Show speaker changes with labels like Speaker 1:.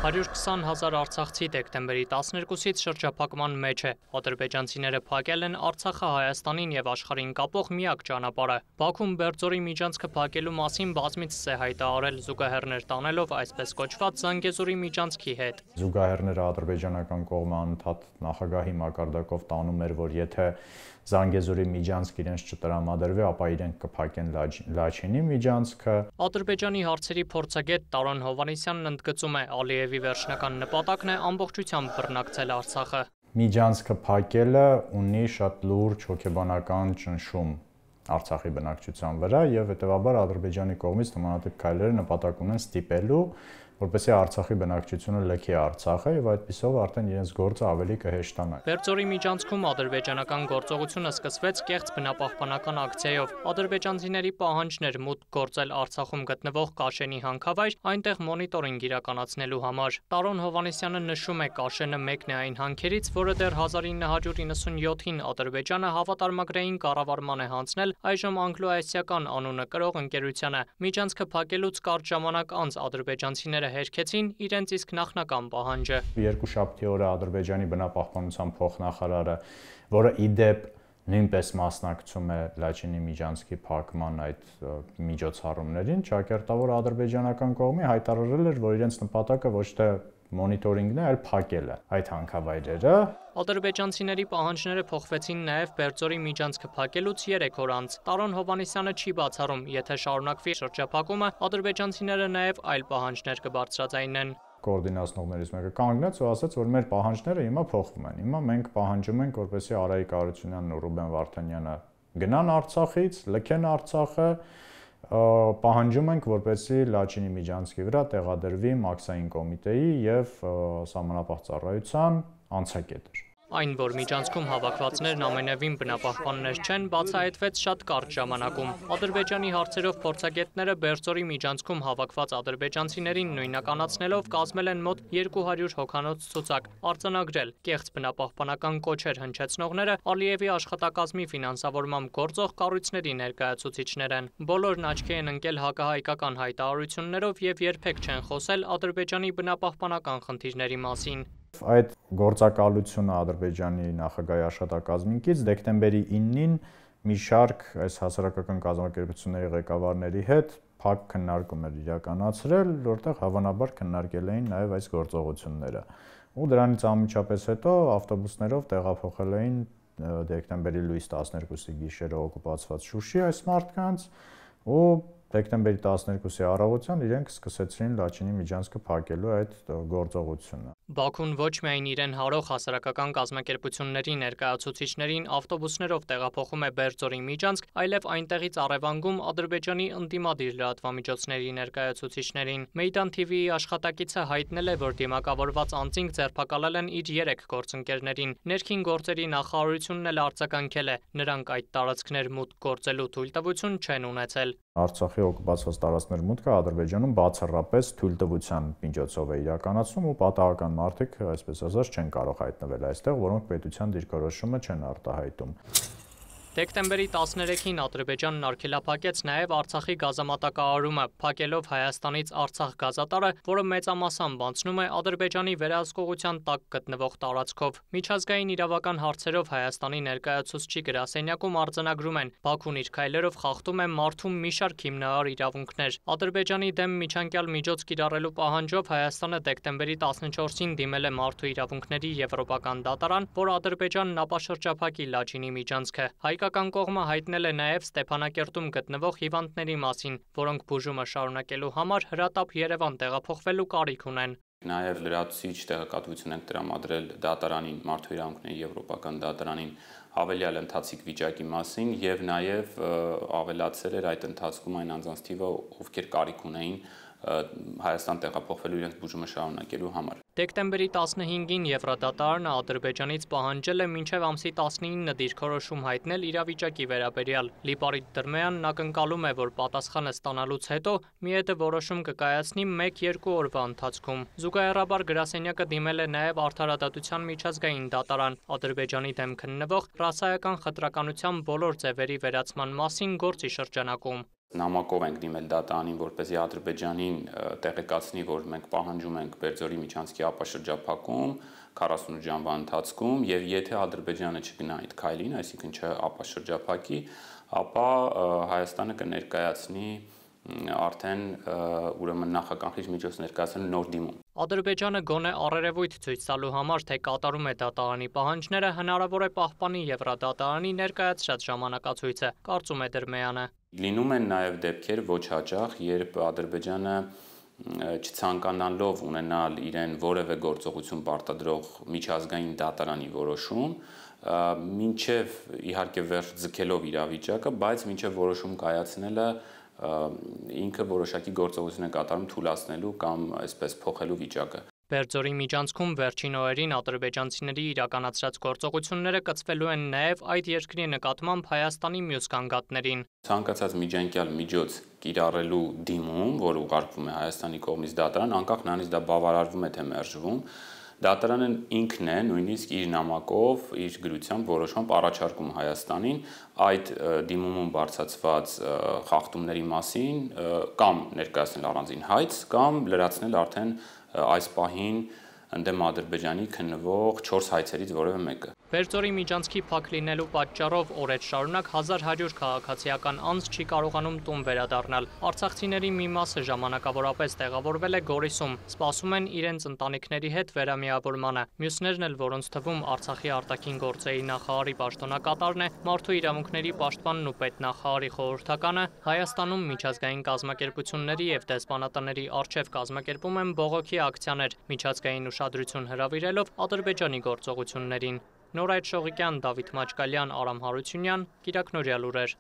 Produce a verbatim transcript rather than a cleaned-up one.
Speaker 1: հարյուր քսան հազար արցախցի դեկտեմբերի տասներկուսից շրջափակման մեջ է։ Ադրբեջանցիները փակել են Արցախը Հայաստանին եւ աշխարհին կապող միակ ճանապարհը։ Բաքուն Բերձորի միջանցքը փակելու մասին բազմիցս է հայտարարել, զուգահեռներ տանելով այսպես կոչված Զանգեզուրի միջանցքի հետ։
Speaker 2: Զուգահեռները ադրբեջանական կողմը անընդհատ նախագահի մակարդակով տանում էր, որ եթե Զանգեզուրի միջանցք իրենց չտրամադրվի, ապա իրենք կփակեն Լաչինի միջանցքը։
Speaker 1: Ադրբեջանի հարցերի փորձագետ Տարոն Հովհաննիսյանն ընդգծում է, Ալիևի վերջնական նպատակն է ամբողջությամբ բռնակցել Արցախը։
Speaker 2: Միջանցքը փակելը ունի շատ լուրջ հոգեբանական ճնշում Արցախի բնակչության վրա եւ հետեւաբար Ադրբեջանի կողմից նմանատիպ քայլերը նպատակ ունեն ստիպելու, որպեսզի Արցախի բնակչությունը լքի Արցախը եւ այդպիսով արդեն իրենց գործը ավելի կհեշտանա։
Speaker 1: Բերձորի միջանցքում ադրբեջանական գործողությունը սկսվեց կեղծ բնապահպանական ակցիայով։ Ադրբեջանցիների պահանջն էր մուտք գործել Արցախում գտնվող Կաշենի հանքավայր, այնտեղ մոնիտորինգ իրականացնելու համար։ Տարոն Հովհաննիսյանը նշում է, Կաշենը մեկն է այն հանքերից, որը դեռ հազար ինը հարյուր իննսունյոթին Ադրբեջանը հավատարմագրային կառավարման է հանձնել այժմ անգլո-ասիական անունը կրող ընկերությանը։ Միջանցքը փակելուց կարճ ժամանակ անց ադրբեջանցիները հերքեցին իրենց իսկ նախնական պահանջը։
Speaker 2: Երկուշաբթի օրը Ադրբեջանի բնապահպանության փոխնախարարը, որը ի դեպ նույնպես մասնակցում է Լաչինի միջանցքի փակման այդ միջոցառումներին, ճակերտավոր ադրբեջանական կողմի հայտարարել էր, որ իրենց նպատակը ոչ թե մոնիտորինգն է, այլ փակելը այդ հանքավայրերը։
Speaker 1: Ադրբեջանցիների պահանջները փոխվեցին նաև Բերձորի միջանցքը փակելուց երեք օր անց։ Տարոն Հովհաննիսյանը չի բացառում, եթե շարունակվի շրջափակումը, ադրբեջանցիները նաև այլ պահանջներ կբարձրաձայնեն։
Speaker 2: Կոորդինացնողներից մեկը կանգնեց ու ասաց, որ մեր պահանջները հիմա փոխվում են։ Հիմա մենք պահանջում ենք, որպեսզի Արայիկ Արությունյանն ու Ռուբեն Վարդանյանը գնան Արցախից, լքեն Արցախը, պահանջում ենք, որպեսզի Լաչինի միջանցքի վրա տեղադրվի մաքսային կոմիտեի եւ սահմանապահ ծառայության անցակետեր։
Speaker 1: Այն, որ միջանցքում հավաքվածներն ամենևին բնապահպաններ չեն, բացահայտվեց շատ կարճ ժամանակում։ Ադրբեջանի հարցերով փորձագետները Բերձորի միջանցքում հավաքված ադրբեջանցիներին նույնականացնելով կազմել են մոտ երկու հարյուր հոգանոց ցուցակ, արձանագրել կեղծ բնապահպանական կոչեր հնչեցնողները Ալիևի աշխատակազմի ֆինանսավորմամբ գործող կառույցների ներկայացուցիչներ են։ Բոլորն աչքի են ընկել հակահայկական հայտարարություններով եւ երբեք չեն խոսել Ադրբեջանի բնապահպանական խնդիրների մասին։
Speaker 2: Այդ գործակալությունը Ադրբեջանի նախագահի աշխատակազմից դեկտեմբերի իննին մի շարք այս հասարակական կազմակերպությունների ղեկավարների հետ փակ քննարկում էր իրականացրել, որտեղ հավանաբար քննարկել էին նաև այս գործողությունները։ Ու դրանից անմիջապես հետո ավտոբուսներով տեղափոխել էին դեկտեմբերի լույս տասներկուսի գիշերը օկուպացված Շուշի այս մարդկանց ու դեկտեմբերի տասներկուսի առավոտյան իրենք սկսեցին Լաչինի միջանցքը փակելու այդ գործողությունը։
Speaker 1: Բաքուն ոչ միայն իրեն հարող հասարակական կազմակերպությունների ներկայացուցիչներին ավտոբուսներով տեղափոխում է Բերձորի միջանցք, այլև այնտեղից առևանգում Ադրբեջանի ընդդիմադիր լրատվամիջոցների ներկայացուցիչներին։ Մեյդան թիվիի աշխատակիցը հայտնել է, որ դիմակավորված անձինք ձերբակալել են իր երեք գործընկերներին։ Ներքին գործերի նախարարությունն էլ արձագանքել է, նրանք այդ տարածքներ մուտք գործելու թույլտվություն չեն ունեցել։
Speaker 2: Արցախի օկուպացված տարածքներ մուտքը Ադրբեջանում բացառապես թույլտվության միջոցով է իրականացվում ու պատահական մարդիկ, այսպես ասած, չեն կարող հայտնվել այստեղ, որոնք պետության դիրքորոշումը չեն արտահայտում։
Speaker 1: Դեկտեմբերի տասներեքին Ադրբեջանն արգելափակեց նաև Արցախի գազամատակարարումը, փակելով Հայաստանից Արցախ գազատարը, որը մեծամասամբ անցնում է Ադրբեջանի վերահսկողության տակ գտնվող տարածքով։ Միջազգային իրավական հարցերով Հայաստանի ներկայացուցչի գրասենյակում արձանագրում են, Բաքուն իր քայլերով խախտում է մարդու մի շարք հիմնարար իրավունքներ։ Ադրբեջանի դեմ միջանկյալ միջոց կիրառելու պահանջով Հայաստանը դեկտեմբերի տասնչորսին դիմել է Մարդու իրավունքների եվրոպական դատարան, որ Ադրբեջանն ապաշրջափակի Լաչինի միջանցքը։ Հայկական կողմը հայտնել է նաև Ստեփանակերտում գտնվող հիվանդների մասին, որոնք բուժումը շարունակելու համար հրատապ Երևան տեղափոխվելու կարիք ունեն։
Speaker 3: Նաև լրացուցիչ տեղեկատվություն ենք տրամադրել դատարանին, Մարդու իրավունքների եվրոպական դատարանին հավելյալ ընթացիկ վիճակի մասին եւ նաև ավելացել էր այդ ընթացքում այն անձանց թիվը, ովքեր կարիք ունեին Հայաստան տեղափոխվելու իրենց բուժումը շարունակելու համար։
Speaker 1: Դեկտեմբերի տասնհինգին Եվրոդատարանը Ադրբեջանից պահանջել է մինչև ամսի տասնինը դիրքորոշում հայտնել իրավիճակի վերաբերյալ։ Լիպարիտ Դրմեյանն ակնկալում է, որ պատասխանը ստանալուց հետո ՄԻԵԴ-ը որոշում կկայացնի մեկ-երկու օրվա ընթացքում։ Զուգահեռաբար գրասենյակը դիմել է նաև Արդարադատության միջազգային դատարան Ադրբեջանի դեմ քննվող ռասայական խտրականության բոլոր ձևերի վերացման մասին գործի շրջանակում։
Speaker 3: Նամակով ենք դիմել դատարանին, որպեսզի Ադրբեջանին տեղեկացնի, որ մենք պահանջում ենք Բերձորի միջանցքի ապաշրջափակում քառասունութ ժամվա ընթացքում, եւ եթե Ադրբեջանը չգնա այդ քայլին, այսինքն չապաշրջափակի, ապա Հայաստանը կներկայացնի արդեն ուրեմն նախականխիչ միջոց ներկայացնելու նոր դիմում։
Speaker 1: Ադրբեջանը գոնե առերևույթ ցույց տալու համար, թե կատարում է դատարանի պահանջները, հնարավոր է պահպանի Եվրադատարանի ներկայացրած ժամանակացույցը, կարծում է Դրմեյանը։
Speaker 3: Լինում են նաև դեպքեր ոչ հաճախ, երբ Ադրբեջանը չցանկանալով ունենալ իրեն որևէ գործողություն պարտադրող միջազգային դատարանի որոշում, մինչև իհարկե վերջ ձգելով իրավիճակը, բայց մինչև որոշում կայացնելը ինքը որոշակի գործողություն է կատարում թույլատնելու կամ այսպես փոխելու վիճակը։
Speaker 1: Բերձորի միջանցքում վերջին օրերին ադրբեջանցիների իրականացրած գործողությունները կցվելու են նաև այդ երկրի նկատմամբ Հայաստանի մյուս գանգատներին։
Speaker 3: Ցանկացած միջանկյալ միջոց կիրառելու դիմում, որ ուղարկվում է Հայաստանի կողմից դատարան, անկախ նրանից դա բավարարվում է թե մերժվում, դատարանը ինքն է նույնիսկ իր նամակով, իր գրությամբ որոշում առաջարկում Հայաստանին այդ դիմումում բարձրացված խախտումների մասին կամ ներկայացնել առանձին հայց, կամ լրացնել արդեն այս պահին ընդդեմ Ադրբեջանի քննվող չորս հայցերից որևէ մեկը։
Speaker 1: Բերձորի միջանցքի փակ լինելու պատճառով օրեր շարունակ հազար հարյուր քաղաքացիական անձ չի կարողանում տուն վերադառնալ։ Արցախցիների մի մասը ժամանակավորապես տեղավորվել է Գորիսում, սպասում են իրենց ընտանիքների հետ վերամիավորմանը։ Մյուսներն էլ, որոնց թվում Արցախի արտաքին գործերի նախարարի պաշտոնակատարն է, մարդու իրավունքների պաշտպանն ու պետնախարարի խորհրդականը, Հայաստանում միջազգային կազմակերպությունների եւ դեսպանատների առջև կազմակերպում են բողոքի ակցիաներ, միջազգային ուշադրություն հրավիրելով Ադրբեջանի գործողություններին։ Նորայր Շողիկյան, Դավիթ Մաչկալյան, Արամ Հարությունյան, Կիրակնորյալ լուրեր։